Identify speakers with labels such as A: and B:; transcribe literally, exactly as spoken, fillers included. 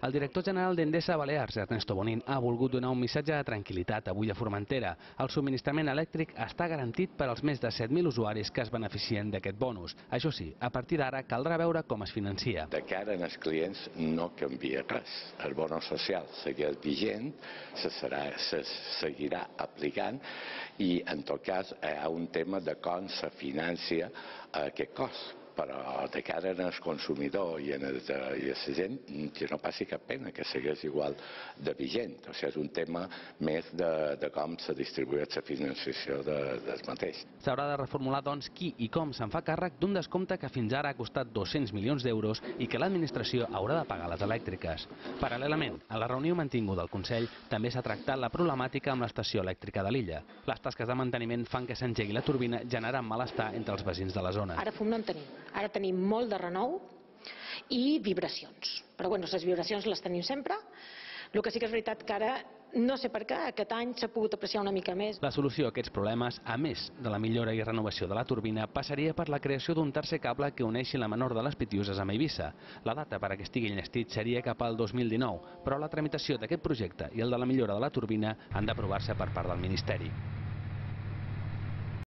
A: El director general d'Endesa Balears, Ernesto Bonín, ha volgut donar un missatge de tranquil·litat avui a Formentera. El subministrament elèctric està garantit per als més de set mil usuaris que es beneficien d'aquest bonus. Això sí, a partir d'ara caldrà veure com es financia.
B: De cara als clients no canvia res. El bonus social segueix vigent, se, serà, se seguirà aplicant i en tot cas hi ha un tema de com se financia aquest cost. Però de cara al consumidor i a la gent que no passi cap pena, que segueix igual de vigent. O sigui, és un tema més de, de com se distribueix la financiació de, del mateix.
A: S'haurà de reformular, doncs, qui i com se'n fa càrrec d'un descompte que fins ara ha costat dos-cents milions d'euros i que l'administració haurà de pagar a les elèctriques. Paral·lelament, a la reunió mantinguda del Consell també s'ha tractat la problemàtica amb l'estació elèctrica de l'illa. Les tasques de manteniment fan que s'engegui la turbina, generant malestar entre els veïns de la zona.
C: Ara fum no en tenim. Ara tenim molt de renou i vibracions. Però bueno, les vibracions les tenim sempre. El que sí que és veritat que ara, no sé per què, aquest any s'ha pogut apreciar una mica més.
A: La solució a aquests problemes, a més de la millora i renovació de la turbina, passaria per la creació d'un tercer cable que uneixi la menor de les Pitiüses amb Eivissa. La data per a que estigui enllestit seria cap al dos mil dinou, però la tramitació d'aquest projecte i el de la millora de la turbina han d'aprovar-se per part del Ministeri.